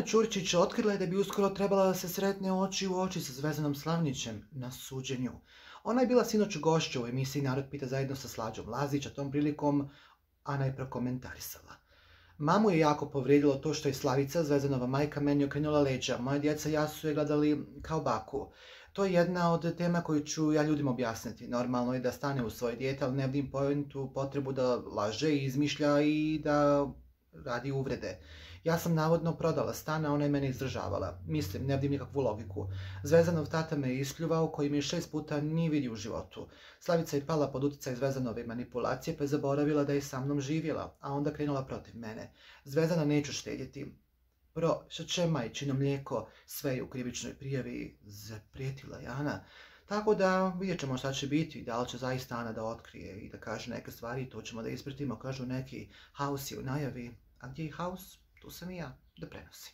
Ćurčić otkrila je da bi uskoro trebala da se sretne oči u oči sa Zvezdanom Slavnićem na suđenju. Ona je bila sinoć gošća u emisiji Narod pita zajedno sa Slađom Lazić, a tom prilikom Ana je prokomentarisala. Mamu je jako povrijedilo to što je Slavica, Zvezdanova majka, meni okrenula leđa. Moja djeca i ja su je gledali kao baku. To je jedna od tema koju ću ja ljudima objasniti. Normalno je da stane u svoje dijete, ali ne vidim pojentu potrebu da laže i izmišlja i da radi uvrede. Ja sam navodno prodala stan, a ona je mene izdržavala. Mislim, ne vidim nikakvu logiku. Zvezdanov tata me je ispljuvao, koji mi je 6 puta nije vidio u životu. Slavica je pala pod utjecaj Zvezdanove manipulacije, pa je zaboravila da je sa mnom živjela, a onda krenula protiv mene. Zvezdana neću štedjeti. Šeće majčino mlijeko, sve je u krivičnoj prijavi, zaprijetila je Ana. Tako da vidjet ćemo šta će biti, da li će zaista Ana da otkrije i da kaže neke stvari, to ćemo da ispratimo, kažu neki haos je u najavi. A gdje je haos? Tu sam i ja da prenosim.